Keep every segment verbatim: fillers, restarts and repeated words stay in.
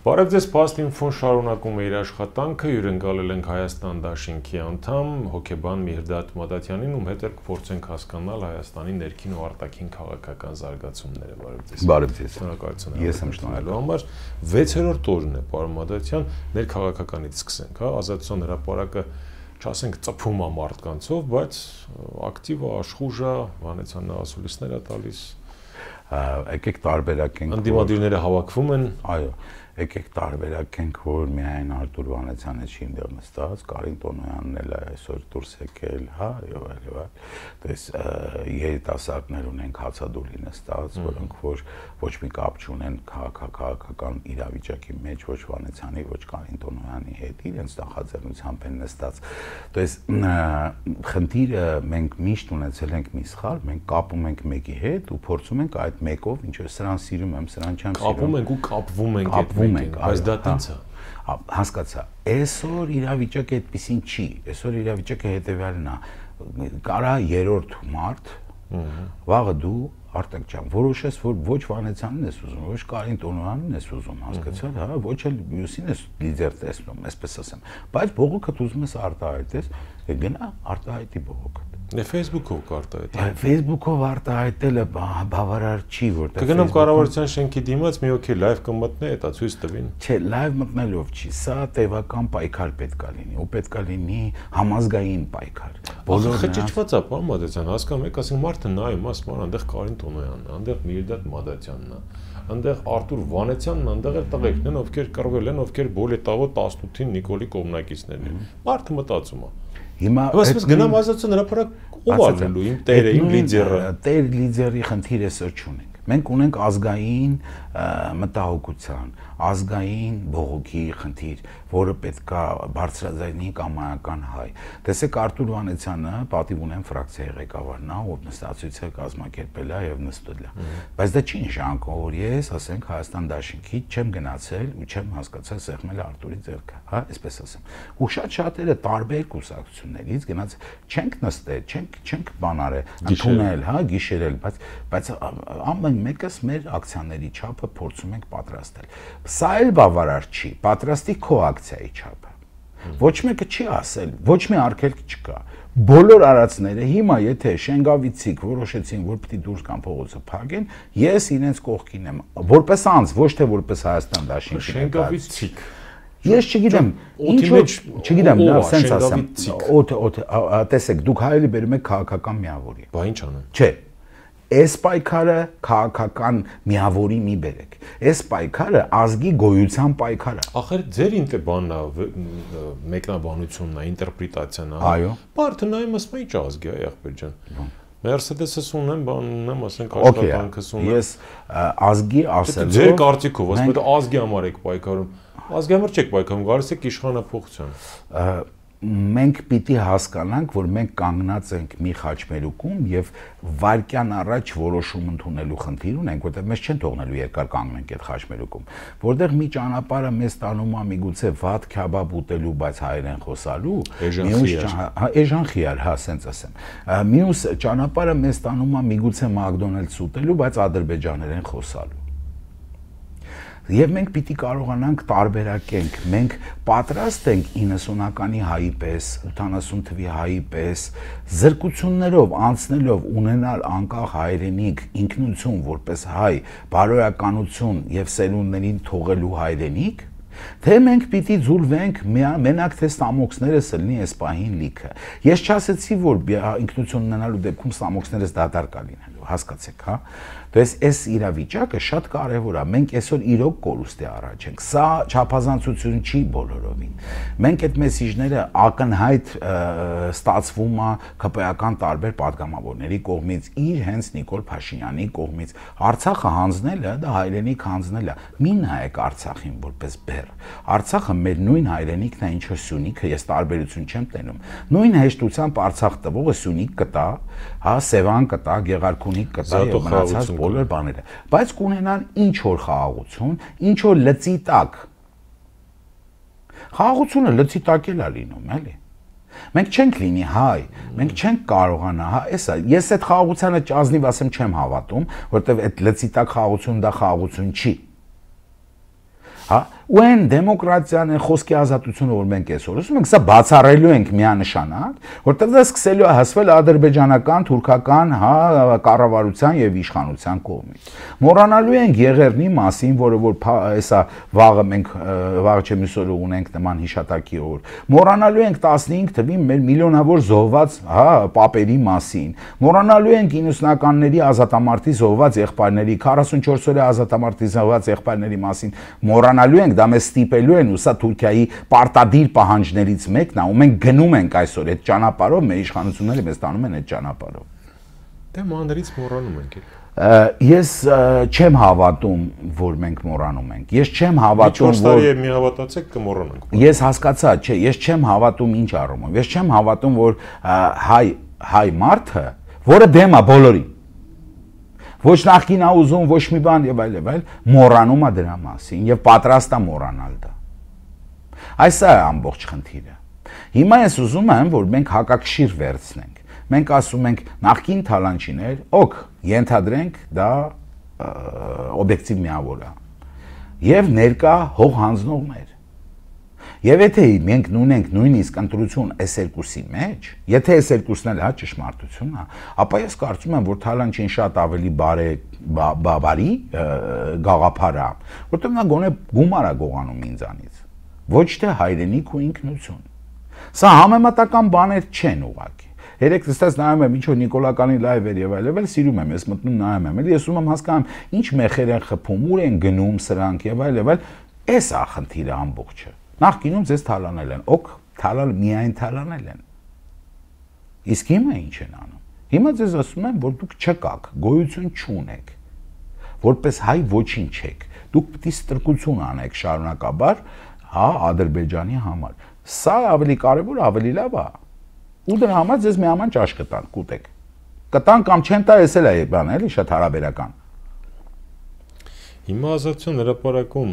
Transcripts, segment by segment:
Բարև ձեզ, Փաստ-Ինֆոն շարունակում է իր աշխատանքը, հյուրընկալել ենք Հայաստան դաշինքի անդամ հոգեբան Միհրդադ Մադաթյանին, ում հետ կփորձենք հասկանալ Հայաստանի ներքին ու արտաքին քաղաքական զարգացումները։ Բարև ձեզ։ Բարև ձեզ։ Շնորհակալություն։ Ես եմ շնորհակալ համար վեցերորդ օրն է, պարոն Մադաթյան, ներքաղաքականից սկսենք, հա, Ազատության հրապարակը չասենք ծփում է մարդկանցով, բայց ակտիվ է, աշխուժ է, Վանեցյանն ասուլիսներ է տալիս։ Եկեք տարբերակենք։ Անդիմադիրները հավաքվում են։ Այո, եկեք տարբերակենք, որ միայն Արտուր Վանեցյանը չի այնտեղ նստած, Կարին Տոնոյանն էլ է այսօր դուրս եկել, հա, եւ այլ եւ այլ։ Դες երիտասարդներ ունենք հացադուլի նստած, որոնք որ ոչ մի կապ չունեն քաղաքական իրավիճակի մեջ, ոչ Վանեցյանի, ոչ Կարին Տոնոյանի հետ, իրենց նախաձեռնությամբ են նստած։ Դες խնդիրը մենք միշտ ունեցել ենք մի սխալ, մենք կապում ենք մեկի հետ ու փորձում ենք այդ մեկով, ինչ որ սրան սիրում եմ, սրան չեմ սիրում։ Կապում ենք ու կապվում ենք այդ մեկին, բայց դա տենց է։ Հասկացա։ Այսօր իրավիճակը այդպեսին չի։ Այսօր իրավիճակը հետեւյալն է։ Կարա երրորդ մարտ, վաղը դու Արտակ ջան, որոշես, որ ոչ Վանեցյանին ես ուզում, ոչ Կարին Տոնոյանին ես ուզում, հասկացա՞լ, հա, ոչ էլ մյուսին ես լիդեր տեսնում, այսպես ասեմ։ Բայց բողոքդ ուզում ես արտահայտես, գնա արտահայտի բողոքդ։ Դե Facebook-ով կարտահայտել։ Facebook-ով արտահայտելը բավարար չի, որտեղ կգնամ կառավարության շենքի դիմաց մի հոգի լայվ կմտնի, դա ցույց տվին։ Չէ, լայվ մտնելով չի, սա տևական պայքար պետք է լինի, ու պետք է լինի համազգային պայքար։ Բոլորը խճճված է, պարոն Մադաթյան, հասկանում եք, ասենք մարդը նայում, ասում է, այնտեղ Կարին Տոնոյանն է, այնտեղ Միհրդադ Մադաթյանն է, այնտեղ Արտուր Վանեցյանն է, այնտեղ էլ տղեկն են, ովքեր կռվել են, ովքեր Բոլետավո տասնութին Նիկոլի կողմնակիցներն են։ Մարդը մտածում է։ Հիմա այսպես գնամ Ազատության հրապարակ ով արվելու իմ տերը, իմ լիդերը։ Տեր լիդերի խնդիր էսօր չունենք։ Մենք ունենք ազգային մտահոգության, ազգային բողոքի խնդիր, որը պետք է բարձրաձայնի կամայական հայ։ Տեսեք Արտուր Վանեցյանը պատիվ ունեն ֆրակցիայի ղեկավարն է, ով նստածույցը կազմակերպել է եւ նստել է։ Բայց դա չի նշանակում, որ ես, ասենք, Հայաստան դաշինքի չեմ գնացել ու չեմ հասկացել սեղմել Արտուրի ձեռքը, հա, այսպես ասեմ։ Ու շատ շատերը տարբեր կուսակցություններից գնաց չենք նստել, չենք չենք բանարել, ընդունել, հա, գիշերել, բայց բայց ամեն մեկս մեր ակցիաների չափը փորձում ենք պատրաստել։ Սա էլ բավարար չի, պատրաստի քո ակցիայի չափը։ Ոչ մեկը չի ասել, ոչ մի արգելք չկա։ Բոլոր արածները հիմա եթե Շենգավիցիկ որոշեցին, որ պիտի դուրս գան փողոցը փակեն, ես իրենց կողքին եմ, որպես անձ, ոչ թե որպես Հայաստան դաշինքի։ Շենգավիցիկ Ես չգիտեմ, ինչ որ չգիտեմ, նա սենց ասեմ։ Օդ օդ տեսեք, դուք հայելի բերում եք քաղաքական միավորի։ Բա ինչ անեմ։ Չէ։ Այս պայքարը քաղաքական միավորի մի բերեք։ Այս պայքարը ազգի գոյության պայքար է։ Ախր ձեր ինտեբանն է, մեկնաբանությունն է, ինտերպրետացիան է։ Այո։ Բարդը նայում ասում է ինչ ազգի է, եղբայր ջան։ Մերսեդեսը ունեմ, բան ունեմ, ասենք աշխատանքս ունեմ։ Ես ազգի ասելով ձեր կարծիքով, ասում եք ազգի համար եք պայքարում։ Ազգի համար չեք պայքարում, գալիս եք իշխանափոխության։ Մենք պիտի հասկանանք, որ մենք կանգնած ենք մի խաչմերուկում եւ վարկյան առաջ որոշում ընդունելու խնդիր ունենք, որտեղ մեզ չեն թողնելու երկար կանգնենք այդ խաչմերուկում, որտեղ մի ճանապարհը մեզ տանում է միգուցե վատ քյաբաբ ուտելու, բայց հայերեն խոսալու, մյուս էժան խիար, հա, սենց ասեմ։ Մյուս ճանապարհը մեզ տանում է միգուցե McDonald's ուտելու, բայց ադրբեջաներեն խոսալու։ Եվ մենք պիտի կարողանանք տարբերակենք, մենք պատրաստ ենք իննսունականի հայի պես, ութանասուն թվի հայի պես, զրկություններով, անցնելով ունենալ անկախ հայրենիք, ինքնություն որպես հայ, բարոյականություն եւ սերունդներին թողելու հայրենիք, թե մենք պիտի ձուլվենք մենակ թե ստամոքսներս լինի այս պահին լիքը։ Ես չասեցի, որ ինքնություն ունենալու դեպքում ստամոքսներս դատարկ է լինելու, հասկացեք, հա։ Դες այս իրավիճակը շատ կարևոր է։ Մենք այսօր իրոք կորուստի առաջ ենք։ Սա չափազանցություն չի բոլորովին։ Մենք այդ մեսիջները ակնհայտ ստացվում է ԿՊ-ական տարբեր падգամավորների կողմից, իր հենց Նիկոլ Փաշինյանի կողմից։ Արցախը հանձնելը, դա հայրենիք հանձնելը։ Մի նայեք Արցախին որպես բեռ։ Արցախը մեր նույն հայրենիքն է, ինչ որ Սյունիքը, ես տարբերություն չեմ տենում։ Նույն հեշտությամբ Արցախ տվողը Սյունիք կտա, հա, Սևան կտա, Գեղարքունիք կտա եւ մնացած բոլոր բաները, բայց կունենան ինչ որ խաղաղություն, ինչ որ լծի տակ։ Խաղաղությունը լծի տակ էլ է լինում, էլի։ Մենք չենք լինի հայ, մենք չենք կարողանա, հա, էսա, ես այդ խաղաղությանը ճազնիվ ասեմ չեմ հավատում, որովհետեւ այդ լծի տակ խաղաղություն դա խաղաղություն չի։ Հա, ու այն դեմոկրատիան, այն խոսքի ազատությունը, որ մենք այսօր ասում ենք, սա բացառելու ենք միանշանակ, որտեղ դա սկսելու է հասվել ադրբեջանական, թուրքական, հա, կառավարության եւ իշխանության կողմից։ Մոռանալու ենք Եղեռնի մասին, որը որ հեսա վաղը մենք վաղը չէ մյուս օրը ունենք նման հիշատակի օր։ Մոռանալու ենք տասնհինգ թվի մեր միլիոնավոր զոհված, հա, պապերի մասին։ Մոռանալու ենք իննսունականների ազատամարտի զոհված եղբայրների, քառասունչորս օրյա ազատամարտի զոհված եղբայրների մասին։ Մոռանալու ենք, դա մեզ ստիպելու են, ու սա Թուրքիայի պարտադիր պահանջներից մեկն է, ու մենք գնում ենք այսօր այդ ճանապարհով, մեր իշխանությունները մեզ տանում են այդ ճանապարհով։ Դե մանրից մոռանում ենք։ Ես չեմ հավատում, որ մենք մոռանում ենք։ Ես չեմ հավատում, որ մի հավատացեք կմոռանանք։ Ես հասկացա, չէ, ես չեմ հավատում ինչ առումով։ Ես չեմ հավատում, որ հայ հայ մարդը, որը դեմ է բոլորին, ոչ նախքին է ուզում, ոչ մի բան եւ այլ եւ այլ, մոռանում է դրա մասին եւ պատրաստ է մոռանալ դա։ Այս է ամբողջ խնդիրը։ Հիմա ես ուզում եմ, որ մենք հակակշիռ վերցնենք։ Մենք ասում ենք նախքին թալանչիներ, օք, ենթադրենք դա օբյեկտիվ միավոր է։ Եվ ներկա հող հանձնողներ։ Եվ եթե մենք ունենք նույնիսկ ընտրություն այս երկուսի մեջ, եթե այս երկուսն էլ հա ճշմարտությունն է, ապա ես կարծում եմ, որ թալանչին շատ ավելի բարե բարի գաղափար է, որտեղ նա գոնե գումար է գողանում ինձանից, ոչ թե հայրենիք ու ինքնություն։ Սա համեմատական բաներ չեն ուղղակի։ Երեք դստած նայում եմ, ինչ որ Նիկոլականի լայվեր եւ այլն, էլ սիրում եմ, ես մտնում նայում եմ, էլի ես ուզում եմ հասկանամ, ինչ մեխեր են խփում, ուր են գնում սրանք եւ այլն եւ այլն, էս է խնդիրը ամբողջը։ Նախկինում ձեզ թալանել են, օք, թալալ միայն թալանել են։ Իսկ հիմա ինչ են անում։ Հիմա ձեզ ասում են, որ դուք չկաք, գոյություն չունեք, որպես հայ ոչինչ եք։ Դուք պետք է ստրկություն անեք շարունակաբար, հա, Ադրբեջանի համար։ Սա ավելի կարևոր, ավելի լավ է։ Ու դրա համար ձեզ մի աման ճաշ կտան, կուտեք։ Կտան կամ չեն տա, էս էլ է բան, էլի շատ հարաբերական։ Հիմա ազատության հրապարակում,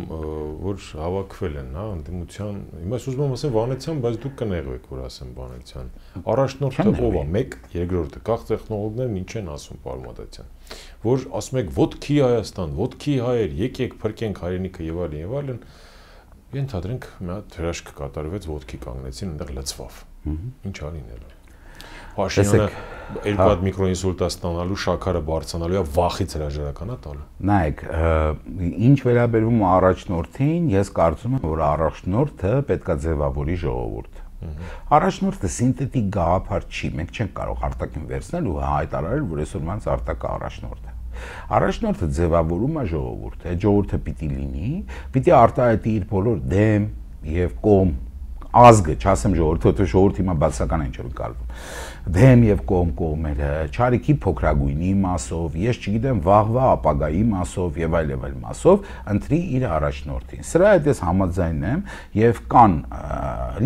որ հավաքվել են, հա, ընդդիմության, հիմա ես ուզում եմ ասեմ Վանեցյան, բայց դուք կներեք, որ ասեմ Վանեցյան։ Առաջնորդը ով է, մեկ, երկրորդը, կախ տեխնոլոգներն ինչ են ասում, պարոն Մադատյան, որ ասում եք ոտքի Հայաստան, ոտքի հայեր, եկեք փրկենք հայրենիքը եւ այլն եւ այլն, ենթադրենք մի հատ հրաշք կատարվեց, ոտքի կանգնեցին, այնտեղ լցվավ։ Ինչ արին էլ։ Փաշինյանը երկու հատ միկրոինսուլտ ստանալու, շաքարը բարձրանալու է վախից հրաժարական է տալու։ Նայեք, ինչ վերաբերում է առաջնորդին, ես կարծում եմ, որ առաջնորդը պետք է ձևավորի ժողովուրդը։ Առաջնորդը սինթետիկ գաղափար չի, մենք չենք կարող արտաքին վերցնել ու հայտարարել, որ այսօր մանց արտակա առաջնորդ է։ Առաջնորդը ձևավորում է ժողովուրդը, այդ ժողովուրդը պիտի լինի, պիտի արտահայտի իր բոլոր դեմ եւ կողմ ազգը, չասեմ ժողովուրդը, որտեղ ժողովուրդը հիմա բացական են չոր կալվում։ Դեմ եւ կողմ կողմերը, չարիքի փոքրագույնի մասով, ես չգիտեմ վաղվա ապագայի մասով եւ այլ եւ այլ մասով ընտրի իր առաջնորդին։ Սրա հետ ես համաձայն եմ եւ կան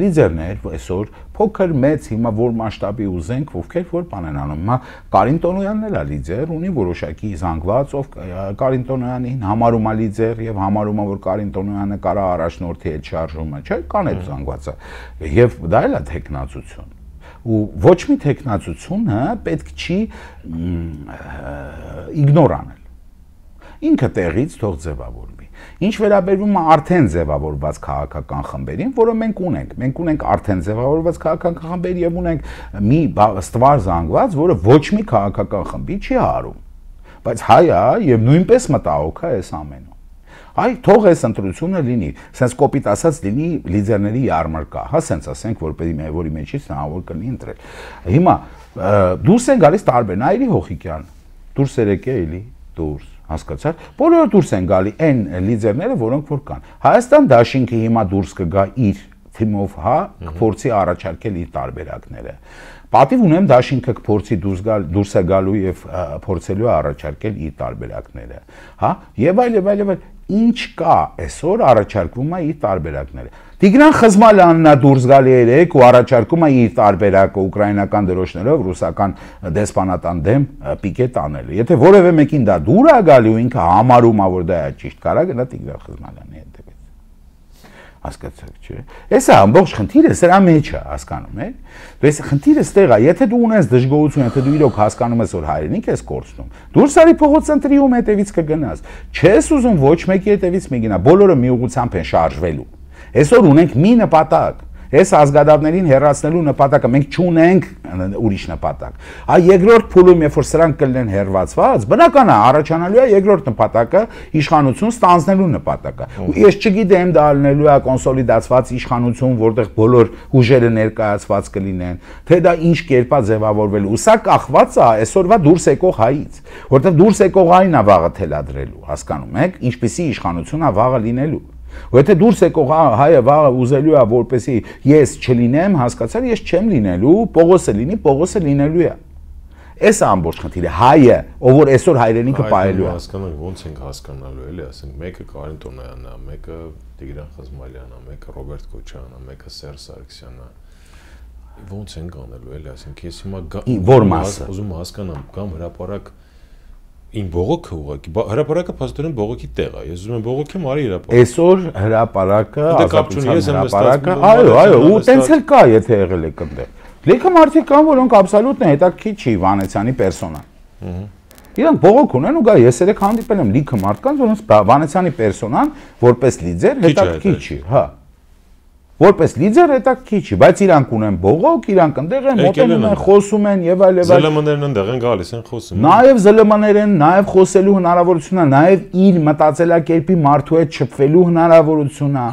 լիդերներ այսօր փոքր մեծ հիմա որ մասշտաբի ուզենք, ովքեր որ բան են անում։ Հիմա Կարին Տոնոյանն էլ է լիդեր, ունի որոշակի զանգված, ով Կարին Տոնոյանին համարում է լիդեր եւ համարում է, որ Կարին Տոնոյանը կարա առաջնորդի հետ շարժումը, չէ՞, կան այդ զանգվածը։ Եվ դա էլ է տեխնացություն։ Ու ոչ մի տեխնացությունը պետք չի իգնոր անել։ Ինքը տեղից թող ձևավորվի։ Ինչ վերաբերվում է արդեն ձևավորված քաղաքական խմբերին, որը մենք ունենք, մենք ունենք արդեն ձևավորված քաղաքական խմբեր եւ ունենք մի ստվար զանգված, որը ոչ մի քաղաքական խմբի չի հարում։ Բայց հայ է եւ նույնպես մտահոգ է այս ամենը։ Այ թող այս ընտրությունը լինի, սենց կոպիտ ասած լինի լիդերների յարմարկա, հա, սենց ասենք, որպեսզի մի որի մեջից հնարավոր կլինի ընտրել։ Հիմա դուրս են գալիս տարբեր, Նայիրի Հոխիկյան, դուրս եկե էլի, դուրս, հասկացա՞ր։ Բոլորը դուրս են գալի այն լիդերները, որոնք որ կան։ Հայաստան դաշինքը հիմա դուրս կգա իր թիմով, հա, կփորձի առաջարկել իր տարբերակները։ Պատիվ ունեմ դաշինքը կփորձի դուրս գալ, դուրս է գալու եւ փորձելու է առաջարկել իր տարբերակները, հա, եւ այլ եւ այլ եւ այլ ինչ կա այսօր առաջարկվում է իր տարբերակները։ Տիգրան Խզմալյանն է դուրս գալի երեք ու առաջարկում է իր տարբերակը ուկրաինական դրոշներով ռուսական դեսպանատան դեմ պիկետ անելը։ Եթե որևէ մեկին դա դուր է գալի ու ինքը համարում է, որ դա է ճիշտ, կարա գնա Տիգրան Խզմալյանի հետևից։ Հասկացաք, չէ։ Էսա ամբողջ խնդիրը սրա մեջ է, հասկանում եք։ Դες խնդիրը ստեղ է, եթե դու ունես դժգոհություն, եթե դու իրոք հասկանում ես, որ հայրենիք ես կորցնում, դուրս արի փողոց ընտրիում հետևից կգնաս։ Չես ուզում ոչ մեկի հետևից մի գնա, բոլորը մի ուղղությամբ են շարժվելու։ Այսօր ունենք մի նպատակ։ Այս ազգադավներին հեռացնելու նպատակը մենք չունենք ուրիշ նպատակ։ Այ երկրորդ փուլում, երբ որ սրանք կլինեն հեռացված, բնական է առաջանալու է երկրորդ նպատակը իշխանություն ստանձնելու նպատակը։ Ու ես չգիտեմ դա լինելու է կոնսոլիդացված իշխանություն, որտեղ բոլոր ուժերը ներկայացված կլինեն, թե դա ինչ կերպա ձևավորվելու։ Սա կախված է այսօրվա դուրս եկող հայից, որտեղ դուրս եկող հային է վաղը թելադրելու, հասկանում եք, ինչպիսի իշխանություն է վաղը լինելու։ Ու եթե դուրս եկող հայը վաղը ուզելու է, որպեսի ես չլինեմ, հասկացար, ես չեմ լինելու, Պողոսը լինի, Պողոսը լինելու է։ Էս է ամբողջ խնդիրը, հայը, ով որ այսօր հայրենիքը պահելու է։ Հասկանանք ոնց ենք հասկանալու, էլի, ասենք, մեկը Կարեն Տոնոյանն է, մեկը Տիգրան Խզմալյանն է, մեկը Ռոբերտ Քոչարյանն է, մեկը Սերժ Սարգսյանն է։ Ոնց ենք անելու, էլի, ասենք, ես հիմա որ մասը ուզում հասկանամ, կամ հրապարակ Ին բողոքը ուղղակի հրապարակը փաստորեն բողոքի տեղ է։ Ես ուզում եմ բողոքեմ արի հրապարակ։ Այսօր հրապարակը, ազատության հրապարակը, այո, այո, ու տենց էլ կա, եթե եղել եք այնտեղ։ Լիքը մարդիկ կան, որոնք աբսոլյուտ հետաքրքիր չի Վանեցյանի պերսոնան։ Իրանք բողոք ունեն ու գա, ես երեք հանդիպել եմ լիքը մարդկանց, որոնց Վանեցյանի պերսոնան որպես լիդեր հետաքրքիր չի, հա։ Որպես լիդեր հետաքրքիր չի, բայց իրանք ունեն բողոք, իրանք այնտեղ են, մոտենում են, խոսում են եւ այլ եւ այլ։ ԶԼՄ-ներն այնտեղ են գալիս են խոսում։ Նաեւ ԶԼՄ-ներ են, նաեւ խոսելու հնարավորություն է, նաեւ իր մտածելակերպի մարդու հետ շփվելու հնարավորություն է։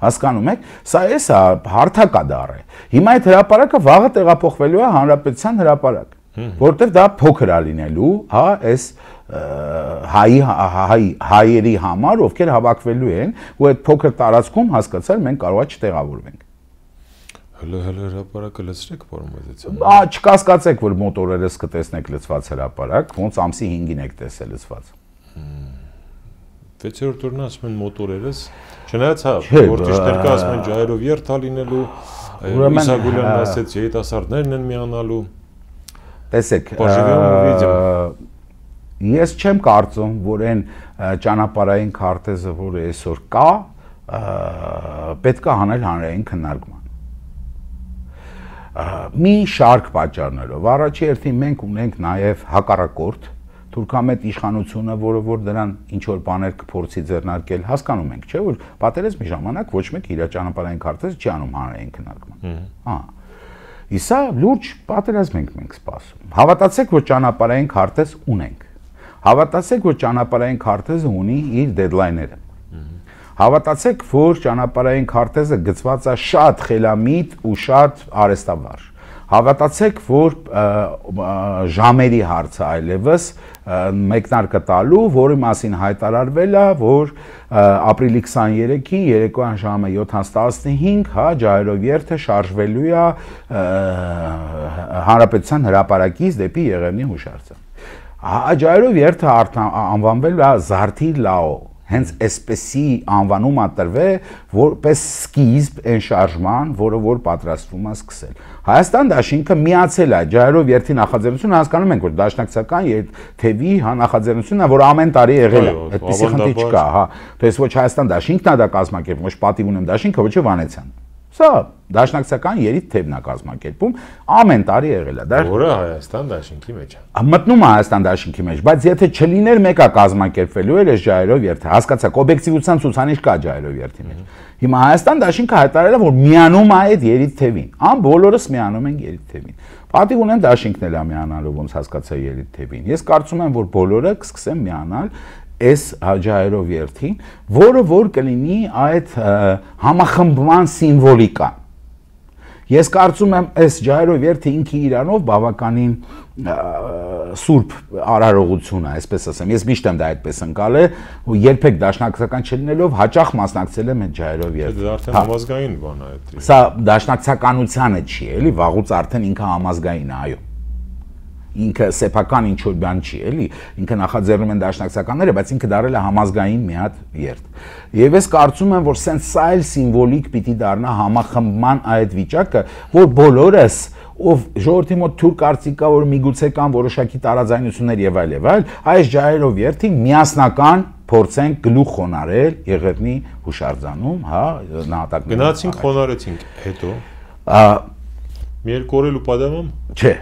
Հասկանում եք, սա էս է հարթակադար է։ Հիմա այդ հրապարակը վաղը տեղափոխվելու է Հանրապետության հրապարակ, որտեղ դա փոքր է լինելու, հա, այս հայ հայերի համար, ովքեր հավաքվելու են, ու այդ փոքր տարածքում հասկացալ մենք կարող է չտեղավորվենք։ Հələ հələ հրապարակը լցրեք պարոն։ Ա չկասկածեք, որ մոտորերս կտեսնեք լցված հրապարակ, ոնց ամսի հինգին եք տեսել լցված։ վեցերորդ օրն ասում են մոտորերս, չնայած հա, որ ճիշտեր կա ասում են ջայրով երթա լինելու, Իսագուլյանն ասեց երիտասարդներն են միանալու։ Տեսեք, ես չեմ կարծում, որ այն ճանապարհային քարտեզը, որը այսօր կա, պետք է հանել հանրային քննարկման։ Մի շարք պատճառներով, առաջի հերթին մենք ունենք նաև հակառակորդ թուրքամետ իշխանությունը, որը որ դրան ինչ որ բաներ կփորձի ձեռնարկել, հասկանում ենք, չէ՞, որ պատերազմի ժամանակ ոչ մեկ իր ճանապարհային քարտեզը չի անում հանրային քննարկման։ Հա։ Իսա լուրջ պատերազմ ենք մենք սպասում։ Հավատացեք, որ ճանապարհային քարտեզ ունենք։ Հավատացեք, որ ճանապարհային քարտեզը ունի իր դեդլայները։ Հավատացեք, որ ճանապարհային քարտեզը գծված է շատ խելամիտ ու շատ արեստավարժ։ Հավատացեք, որ ժամերի հարցը այլևս մեկնարկը տալու, որի մասին հայտարարվել է, որ ապրիլի քսաներեքի երեկոյան ժամը յոթ տասնհինգ, հա, ջահերով երթը շարժվելու է Հանրապետության հրապարակից դեպի Եղևնի հուշարձան։ Ջահերով երթը անվանվել է Զարթի Լաո, հենց այսպեսի անվանում է տրվել, որպես սկիզբ այն շարժման, որը որ պատրաստվում է սկսել։ Հայաստան դաշինքը միացել է ջահերով երթի նախաձեռնությունը, հասկանում ենք, որ դաշնակցական թևի հա նախաձեռնությունն է, որ ամեն տարի եղել է, այդպեսի խնդիր չկա, հա։ Դες ոչ Հայաստան դաշինքն է դա կազմակերպում, ոչ պատիվ ունեմ դաշինքը, ոչ Վանեցյան։ Սա դաշնակցական երիտ թևն է կազմակերպում, ամեն տարի եղել է։ Որը Հայաստան դաշինքի մեջ է։ Մտնում է Հայաստան դաշինքի մեջ, բայց եթե չլիներ մեկը կազմակերպվելու էր այս ջահերով երթը, հասկացաք, օբյեկտիվության ցուցանիշ կա ջահերով երթի մեջ։ Հիմա Հայաստան դաշինքը հայտարարել է, որ միանում է այդ երիտ թևին։ Ամ բոլորս միանում են երիտ թևին։ Պատիվ ունեմ դաշինքն էլ է միանալու, ոնց հասկացա երիտ թևին։ Ես կարծում եմ, որ բոլորը կսկսեն միանալ այս ջահերով երթին, որը որ կլինի այդ համախմբման սիմվոլիկան։ Ես կարծում եմ, այս ջահերով երթը ինքի իրանով բավականին սուրբ արարողություն է, այսպես ասեմ։ Ես միշտ եմ դա այդպես ընկալել, ու երբեք դաշնակցական չլինելով հաճախ մասնակցել եմ այդ ջահերով երթին։ Դա արդեն համազգային բան է այդ։ Սա դաշնակցականությանը չի, էլի, վաղուց արդեն ինքը համազգային է, այո։ Ինքը սեփական ինչ որ բան չի, էլի, ինքը նախաձեռնում են դաշնակցականները, բայց ինքը դարել է համազգային մի հատ երթ։ Եվ ես կարծում եմ, որ սենց սա էլ սիմվոլիկ պիտի դառնա համախմբման այդ վիճակը, որ բոլորս, ով ժողովրդի մոտ թուր կարծիք կա, որ միգուցե կան որոշակի տարաձայնություններ եւ այլ եւ այլ, այս ջահերով երթին միասնական փորձենք գլուխ խոնարել Եղևնի հուշարձանում, հա, նահատակ գնացինք խոնարեցինք, հետո մի երկու օր էլ ու պատահում չէ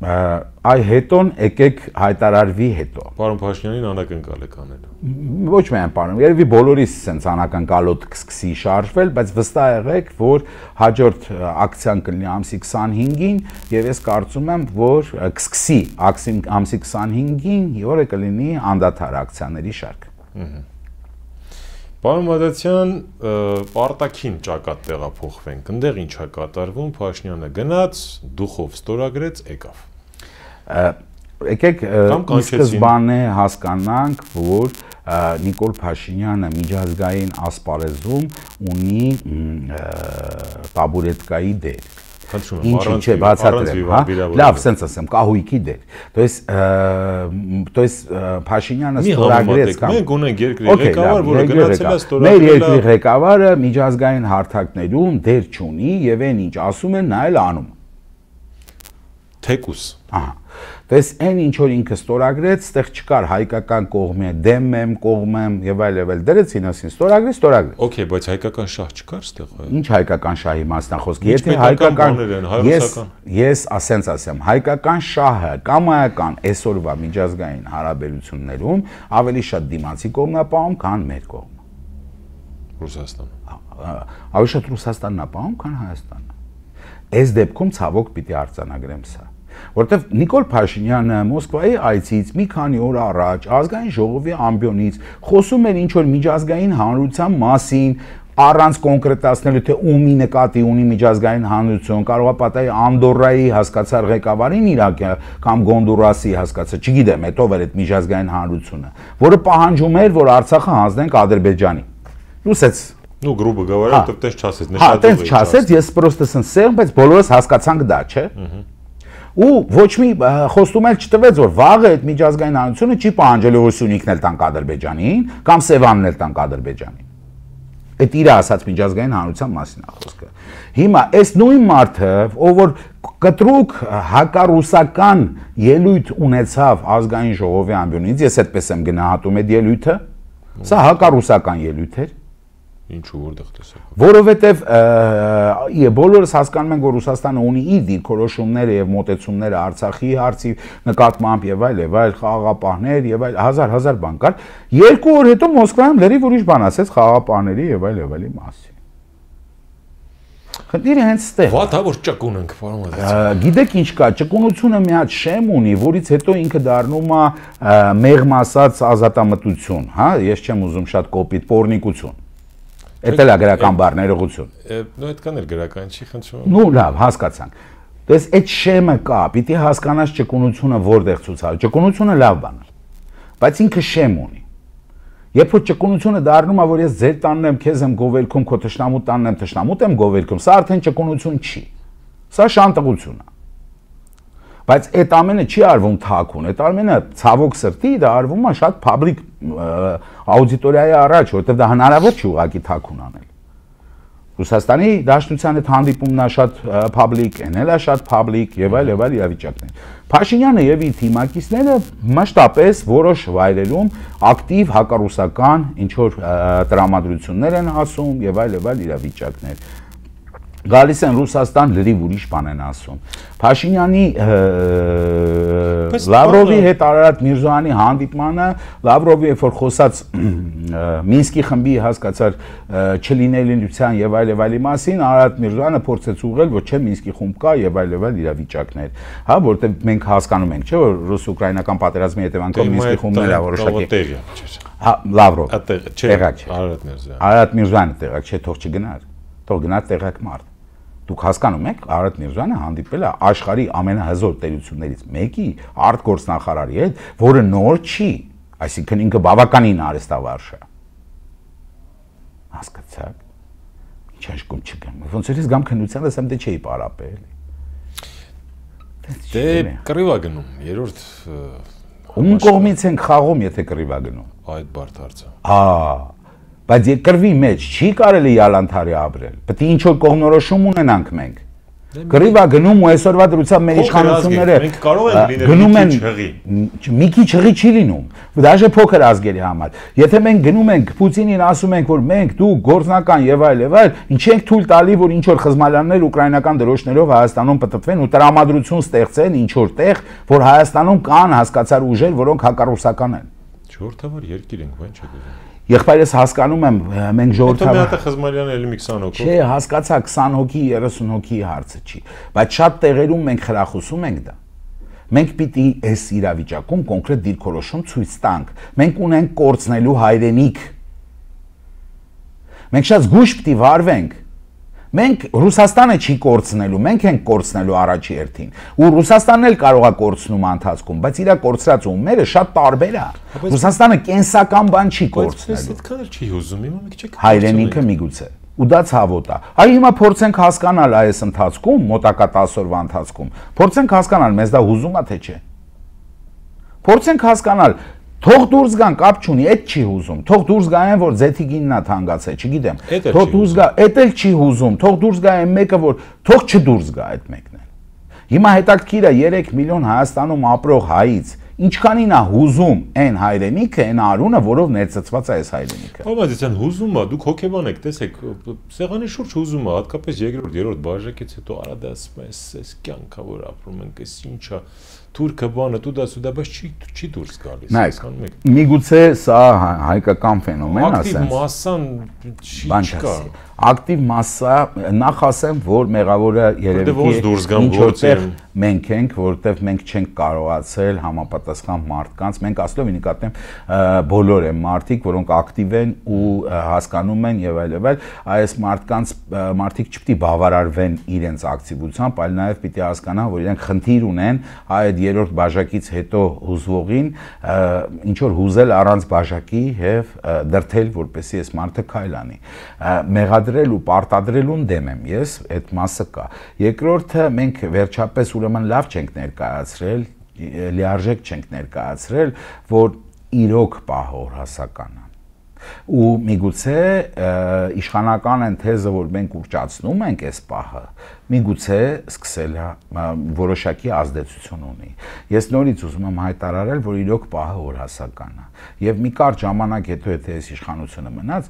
այ հետոն եկեք հայտարարվի հետո պարոն Փաշինյանին անակնկալ եք անելու ոչ միայն պարոն երևի բոլորիս sense անակնկալոտ կսկսի շարժվել բայց վստահ եղեք որ հաջորդ ակցիան կլինի ամսի քսանհինգին եւ ես կարծում եմ որ կսկսի ամսի քսանհինգին որը կլինի անդադար ակցիաների շարք Պարոն Մադացյան, արտաքին ճակատ տեղափոխվենք, ընդեղ ինչ է կատարվում, Փաշինյանը գնաց, դուխով ստորագրեց, եկավ։ Եկեք սկզբանե հասկանանք, որ Նիկոլ Փաշինյանը միջազգային ասպարեզում ունի տաբուրետկայի դեր։ Ինչ չէ բացատրեմ, հա։ Լավ, սենց ասեմ, կահույքի դեր։ То есть, то есть Փաշինյանը ստորագրեց կամ մենք ունենք երկրի ղեկավար, որը գնացել է ստորագրել։ Մեր երկրի ղեկավարը միջազգային հարթակներում դեր չունի եւ այն ինչ ասում են, նա էլ անում։ Թեկուս։ Ահա։ То есть այն ինչ որ ինքը ստորագրեց, այդտեղ չկար հայկական կողմը, դեմ եմ, կողմ եմ եւ այլ եւ այլ դրեց ինասին ստորագրեց, ստորագրեց։ Okay, բայց հայկական շահ չկար այդտեղ։ Ինչ հայկական շահի մասնախոսք։ Եթե հայկական ես ես ասենց ասեմ, հայկական շահը կամայական այսօրվա միջազգային հարաբերություններում ավելի շատ դիմացի կողմն է պահում, քան մեր կողմը։ Ռուսաստանը։ Ավելի շատ Ռուսաստանն է պահում, քան Հայաստանը։ Այս դեպքում ցավոք պիտի արձանագրեմ սա։ Որտեվ Նիկոլ Փաշինյանը Մոսկվայի այցից մի քանի օր առաջ ազգային ժողովի ամբիոնից խոսում էր ինչ որ միջազգային հանրության մասին, առանց կոնկրետացնելու թե ումի նկատի ունի միջազգային հանրություն, կարող է պատահի Անդորրայի հասկացար ղեկավարին Իրաքի կամ Գոնդուրասի հասկացա, չգիտեմ, հետո վեր այդ միջազգային հանրությունը, որը պահանջում էր, որ Արցախը հանձնենք Ադրբեջանի։ Լուսեց Ну, грубо говоря, это тես չասեց, նշած։ Հա, տես չասեց, ես պրոստը սենսեմ, բայց բոլորս հասկացանք դա, չէ։ Ու ոչ մի խոստում էլ չտվեց, որ վաղը այդ միջազգային հանրությունը չի պահանջելու որ Սյունիքն էլ տանք Ադրբեջանին կամ Սևանն էլ տանք Ադրբեջանին։ Այդ իր ասած միջազգային հանրության մասին է խոսքը։ Հիմա այս նույն մարդը, ով որ կտրուկ հակառուսական ելույթ ունեցավ ազգային ժողովի ամբիոնից, ես այդպես եմ գնահատում այդ ելույթը, սա հակառուսական ելույթ էր։ Ինչու որտեղ տեսակ։ Որովհետև բոլորս հասկանում ենք, որ Ռուսաստանը ունի իր դիրքորոշումները եւ մոտեցումները Արցախի հարցի նկատմամբ եւ այլ եւ այլ խաղաղապահներ եւ այլ հազար հազար բան կար։ Երկու օր հետո Մոսկվայում լրիվ ուրիշ բան ասեց խաղաղապահների եւ այլ եւ այլի մասին։ Խնդիրը հենց ստեղ։ Վատ է որ ճկուն ենք, պարոն Մադացյան։ Գիտեք ինչ կա, ճկունությունը մի հատ շեմ ունի, որից հետո ինքը դառնում է մեղմ ասած ազատամտություն, հա, ես չեմ ուզում շատ կոպիտ պորնիկություն։ Էդ էլ է գրական բառ ներողություն։ Նո այդքան էլ գրական չի, խնդրում։ Ну, լավ, հասկացանք։ Դες այդ շեմը կա, պիտի հասկանաս ճկունությունը որտեղ ցուցալ։ Ճկունությունը լավ բան է։ Բայց ինքը շեմ ունի։ Երբ որ ճկունությունը դառնում է, որ ես ձեր տանն եմ, քեզ եմ գովերքում, քո թշնամու տանն եմ, թշնամուտ եմ գովերքում, սա արդեն ճկունություն չի։ Սա շանտղություն է։ Բայց այդ ամենը չի արվում թաքուն, այդ ամենը ցավոք սրտի դա արվում է շատ public աուդիտորիայի առաջ, որովհետև դա հնարավոր չի ուղղակի թաքուն անել։ Ռուսաստանի Դաշնության հետ հանդիպումն է շատ public, են էլ է շատ public եւ այլ եւ այլ իրավիճակներ։ Փաշինյանը եւ իր թիմակիցները մշտապես որոշ վայրերում ակտիվ հակառուսական ինչ որ տրամադրություններ են ասում եւ այլ եւ այլ իրավիճակներ։ Գալիս են Ռուսաստան լրիվ ուրիշ բան են ասում։ Փաշինյանի Լավրովի հետ Արարատ Միրզոյանի հանդիպմանը, Լավրովի երբ որ խոսած Մինսկի խմբի հասկացար չլինելիության եւ այլ եւ այլի մասին, Արարատ Միրզոյանը փորձեց ուղղել, որ չէ Մինսկի խումբ կա եւ այլ եւ այլ իրավիճակներ, հա, որտեղ մենք հասկանում ենք, չէ, որ ռուս-ուկրաինական պատերազմի հետևանքով Մինսկի խումբն է որոշակի։ Հա, Լավրով։ Տեղակ չէ։ Արարատ Միրզոյանը։ Արարատ Միրզոյանը տեղակ չէ, թող չգնար։ Թող գնա տեղակ մարդ։ Դուք հասկանում եք, Արարատ Միրզոյանը հանդիպել է աշխարհի ամենահզոր տերություններից մեկի արտգործնախարարի հետ, որը նոր չի, այսինքն ինքը բավականին արհեստավարժ է։ Հասկացաք։ Ինչ հաշկում չգամ։ Ոնց որ ես գամ քննության ասեմ, դե չէի պարապել։ Դե կռիվա գնում, երրորդ ում կողմից ենք խաղում, եթե կռիվա գնում։ Այդ բարդ հարցը։ Հա Բայց կռվի մեջ չի կարելի յալանթարի ապրել։ Պետք է ինչ որ կողմնորոշում ունենանք մենք։ Գրիվա գնում ու այսօրվա դրությամբ մեր իշխանությունները մենք կարող ենք լինել մի քիչ հղի։ Մի քիչ հղի չի լինում, դաժե փոքր ազգերի համար։ Եթե մենք գնում ենք Պուտինին ասում ենք, որ մենք դու գործնական եւ այլ եւ այլ, ինչ ենք թույլ տալի, որ ինչ որ խզմալյաններ ուկրաինական դրոշներով Հայաստանում պտտվեն ու տրամադրություն ստեղծեն ինչ որ տեղ, որ Հայաստանում կան հասկացար ուժեր, որոնք հակառուսական են։ Ժողովրդավար երկիր ենք, ո՞նց չգիտեմ։ Եղբայրս հասկանում եմ, մենք ժողովրդավար։ Հետո մի հատ է Խզմալյանը էլի մի քսան հոգով։ Չէ, հասկացա քսան հոգի, երեսուն հոգի հարցը չի, բայց շատ տեղերում մենք խրախուսում ենք դա։ Մենք պիտի այս իրավիճակում կոնկրետ դիրքորոշում ցույց տանք։ Մենք ունենք կորցնելու հայրենիք։ Մենք շատ զգույշ պիտի վարվենք։ Մենք Ռուսաստանը չի կորցնելու, մենք ենք կորցնելու առաջի հերթին։ Ու Ռուսաստանն էլ կարող է կորցնում ընթացքում, բայց իր կորցրած ուղիները շատ տարբեր է։ Ռուսաստանը կենսական բան չի կորցնելու։ Այդքան էլ չի հուզում, հիմա մենք չեք հայրենիքը միգուցե։ Ու դա ցավոտ է։ Այ հիմա փորձենք հասկանալ այս ընթացքում, մոտակա տասը օրվա ընթացքում, փորձենք հասկանալ, մեզ դա հուզում է թե չէ։ Փորձենք հասկանալ, թող դուրս գան, կապ չունի, այդ չի հուզում։ Թող դուրս գան, որ ձեթիգինն է թանկացել, չգիտեմ։ Թող դուրս գա, այդ էլ չի հուզում։ Թող դուրս գա այն մեկը, որ թող չդուրս գա այդ մեկն էլ։ Հիմա հետաքրքիր է երեք միլիոն Հայաստանում ապրող հայից ինչքանին է հուզում այն հայրենիքը, այն արունը, որով ներծծված է այս հայրենիքը։ Համաձայն հուզում է, դուք հոգեբան եք, տեսեք, սեղանի շուրջ հուզում է, հատկապես երկրորդ, երրորդ բաժակից հետո արադասում է, այս կյանքա, որ ապրում ենք, այս ինչա, թուրքը բանը, դուդա սուդա, բայց չի չի դուրս գալիս։ Նայեք, միգուցե սա հայկական ֆենոմեն է, ակտիվ մասսան չի կա։ Ակտիվ մասսա, նախ ասեմ, որ մեղավորը երևի ինչ որտեղ մենք ենք, որտեղ մենք չենք կարողացել համապատասխան մարդկանց, մենք ասելով նկատեմ բոլոր են մարդիկ, որոնք ակտիվ են ու հասկանում են եւ այլ եւ այլ, այս մարդկանց մարդիկ չպիտի բավարարվեն իրենց ակտիվությամբ, այլ նաեւ պիտի հասկանան, որ իրենք խնդիր ունեն այդ երրորդ բաժակից հետո հուզվողին ինչ որ հուզել առանց բաժակի եւ դրթել, որպեսզի այս մարդը քայլ անի։ Մեղադրել ու պարտադրելուն դեմ եմ ես, այդ մասը կա։ Երկրորդը մենք վերջապես ուրեմն լավ չենք ներկայացրել, լիարժեք չենք ներկայացրել, որ իրոք պահոր հասական է։ Ու միգուցե իշխանական են թեզը, որ մենք ուռճացնում ենք այս պահը, միգուցե սկսել է որոշակի ազդեցություն ունի։ Ես նորից ուզում եմ հայտարարել, որ իրոք պահը օրհասական է։ Եվ մի կարճ ժամանակ հետո եթե այս իշխանությունը մնաց,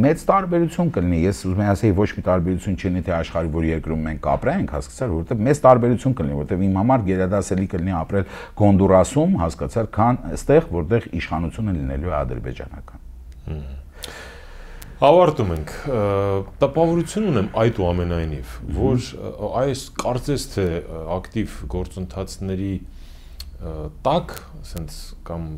մեծ տարբերություն կլինի։ Ես ուզում եմ ասել, ոչ մի տարբերություն չլինի թե աշխարհի որ երկրում մենք ապրենք, հասկացար, որովհետև մեծ տարբերություն կլինի, որովհետև իմ համար գերադասելի կլինի ապրել Գոնդուրասում, հասկացար, քան այստեղ, որտեղ իշխանությունը լինելու է ադրբեջանական։ Ավարտում ենք, տպավորություն ունեմ այդ ու ամենայնիվ, որ այս կարծես թե ակտիվ գործընթացների տակ, ասենց կամ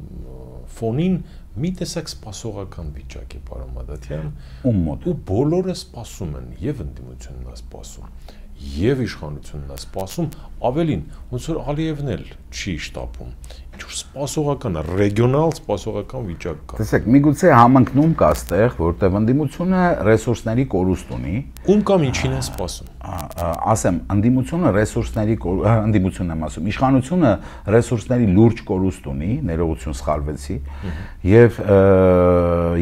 ֆոնին մի տեսակ սպասողական վիճակ է, պարոն Մադաթյան, ում մոտ, ու բոլորը սպասում են, եւ ընդդիմությունն է սպասում, եւ իշխանությունն է սպասում, ավելին, ոնց որ Ալիևն էլ չի շտապում, ինչ-որ սպասողական, ռեգիոնալ սպասողական վիճակ կա։ Տեսեք, միգուցե համընկնում կա այստեղ, որտեղ ընդդիմությունը ռեսուրսների կորուստ ունի։ Ում կամ ինչին է սպասում։ Ասեմ, ընդդիմությունը ռեսուրսների ընդդիմությունն եմ ասում, իշխանությունը ռեսուրսների լուրջ կորուստ ունի, ներողություն սխալվեցի, եւ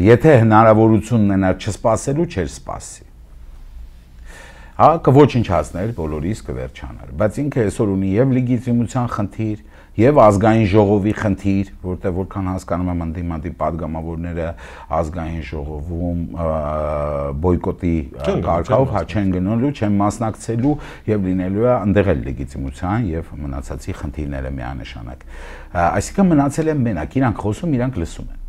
եթե հնարավորություն ունենար չսպասելու, չէր սպասի։ Հա, կոչնչացներ, բոլորիս կվերջանար, բայց ինքը այսօր ունի եւ լեգիտիմության խնդիր, եւ ազգային ժողովի խնդիր, որտեղ որքան հասկանում եմ ընդդիմադի падգամավորները ազգային ժողովում բոյկոտի կարգով հա չեն գնալու, չեն մասնակցելու եւ լինելու է այնտեղ էլ լեգիտիմության եւ մնացածի խնդիրները միանշանակ։ Այսինքն մնացել են մենակ, իրանք խոսում, իրանք լսում են։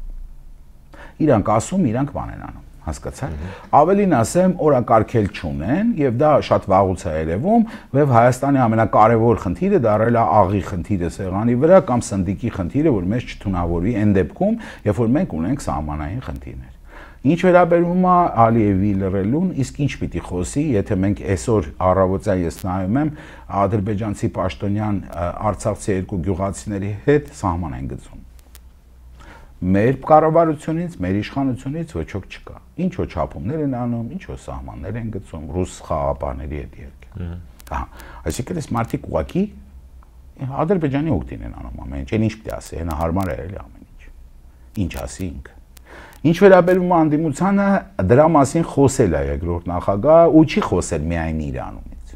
Իրանք ասում, իրանք բան են անում։ Հասկացա՞ք։ Ավելին ասեմ, օրակարգել չունեն եւ դա շատ վաղուց է երևում, եւ Հայաստանի ամենակարևոր խնդիրը դարել է աղի խնդիրը սեղանի վրա կամ սնդիկի խնդիրը, որ մեզ չթունավորվի այն դեպքում, երբ որ մենք ունենք սահմանային խնդիրներ։ Ինչ վերաբերում է Ալիևի լռելուն, իսկ ինչ պիտի խոսի, եթե մենք այսօր առավոտյան ես նայում եմ ադրբեջանցի պաշտոնյան արցախցի երկու գյուղացիների հետ սահման են գծում։ Մեր կառավարությունից, մեր իշխանությունից ոչ ոք չկա։ Ինչ որ չափումներ են անում, ինչ որ սահմաններ են գծում ռուս խաղապահների հետ երկը։ Ահա, այսինքն այս մարդիկ ուղակի Ադրբեջանի օգտին են անում ամեն ինչ, այն ինչ պիտի ասի, հենա հարմար է էլի ամեն ինչ։ Ինչ ասի ինքը։ Ինչ վերաբերում է անդիմությանը, դրա մասին խոսել է երկրորդ նախագահը ու չի խոսել միայն իր անունից։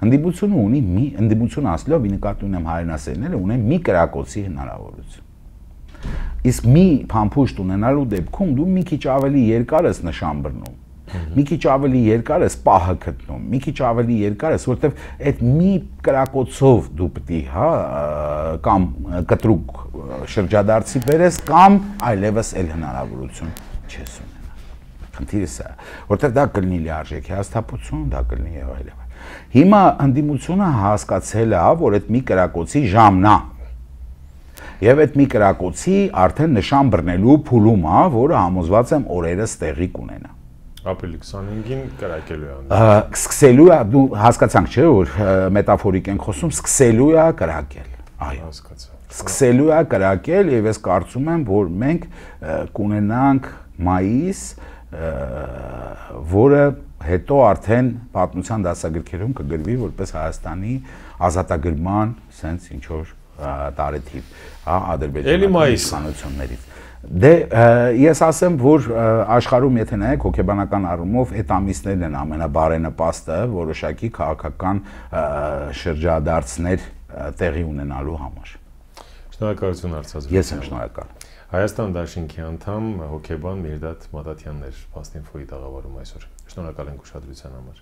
Հանդիպությունը ունի մի հանդիպություն ասելով ի նկատի ունեմ հայրենասերները ունեն մի կրակոցի հնարավորություն։ Իսկ մի փամփուշտ ունենալու դեպքում դու մի քիչ ավելի երկար ես նշան բռնում, մի քիչ ավելի երկար ես պահը գտնում, մի քիչ ավելի երկար ես, որտեվ այդ մի կրակոցով դու պետք է, հա, կամ կտրուկ շրջադարձի բերես կամ այլևս էլ հնարավորություն չես ունենա։ Խնդիրը սա է, որտեվ դա կլինի լիարժեք հաստատություն, դա կլինի եւ այլն։ Հիմա հանդիպությունը հասկացել է, որ այդ մի կրակոցի ժամն է։ Եվ այդ մի կրակոցի արդեն նշան բռնելու փուլում է, որը համոզված եմ օրերս տեղի կունենա։ Ապրիլի քսանհինգին կրակելու է։ Սկսելու է, դու հասկացանք չէ, որ մետաֆորիկ ենք խոսում, սկսելու է կրակել։ Այո, հասկացա։ Սկսելու է կրակել եւ ես կարծում եմ, որ մենք կունենանք մայիս, որը հետո արդեն պատմության դասագրքերում կգրվի որպես Հայաստանի ազատագրման sense ինչ որ տարեթիվ, հա, ադրբեջանական իշխանություններից։ Դե ես ասեմ, որ աշխարհում եթե նայեք հոգեբանական առումով այդ ամիսներն են ամենաբարենպաստը որոշակի քաղաքական շրջադարձներ տեղի ունենալու համար։ Շնորհակալություն Արցախ։ Ես եմ շնորհակալ։ Հայաստան Դաշինքի անդամ հոգեբան Միրդադ Մադաթյանն էր Փաստինֆոյի տաղավարում այսօր։ Շնորհակալ ենք ուշադրության համար։